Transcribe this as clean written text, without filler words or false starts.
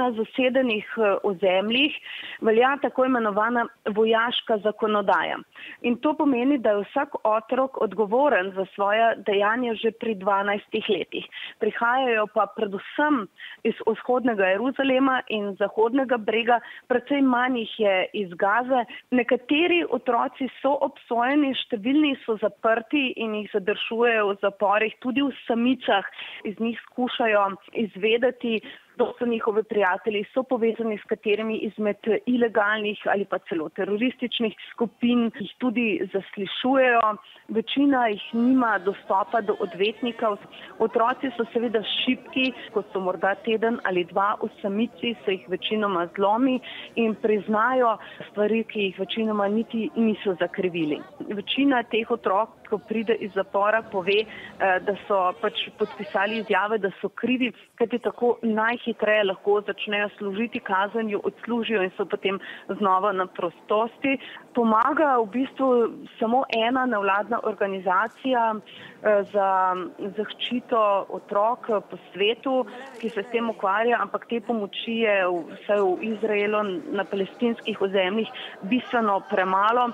na zasedenih ozemljih velja tako imenovana vojaška zakonodaja. In to pomeni, da je vsak otrok odgovoren za svoja dejanja že pri 12 letih. Prihajajo pa predvsem iz vzhodnega Jeruzalema in zahodnega brega, precej manj jih je iz Gaze. Nekateri otroci so obsojeni, številni so zaprti in jih zadržujejo v zaporih, tudi v samicah, iz njih skušajo izvedeti, kdo so njihovi prijatelji, so povezani s katerimi izmed ilegalnih ali pa celo terorističnih skupin, jih tudi zaslišujejo. Večina jih nima dostopa do odvetnikov. Otroci so seveda šibki, ko so morda teden ali dva v samici, se jih večinoma zlomi in priznajo stvari, ki jih večinoma niti niso zakrivili. Večina teh otrok, ko pride iz zapora, pove, da so podpisali izjave, da so krivi, kajti tako najhitreje lahko začnejo služiti kazen, jo odslužijo in so potem znova na prostosti. Pomaga v bistvu samo ena nevladna organizacija za zaščito otrok po svetu, ki se s tem ukvarja, ampak te pomoči je vsaj v Izraelu na palestinskih ozemljih bistveno premalo.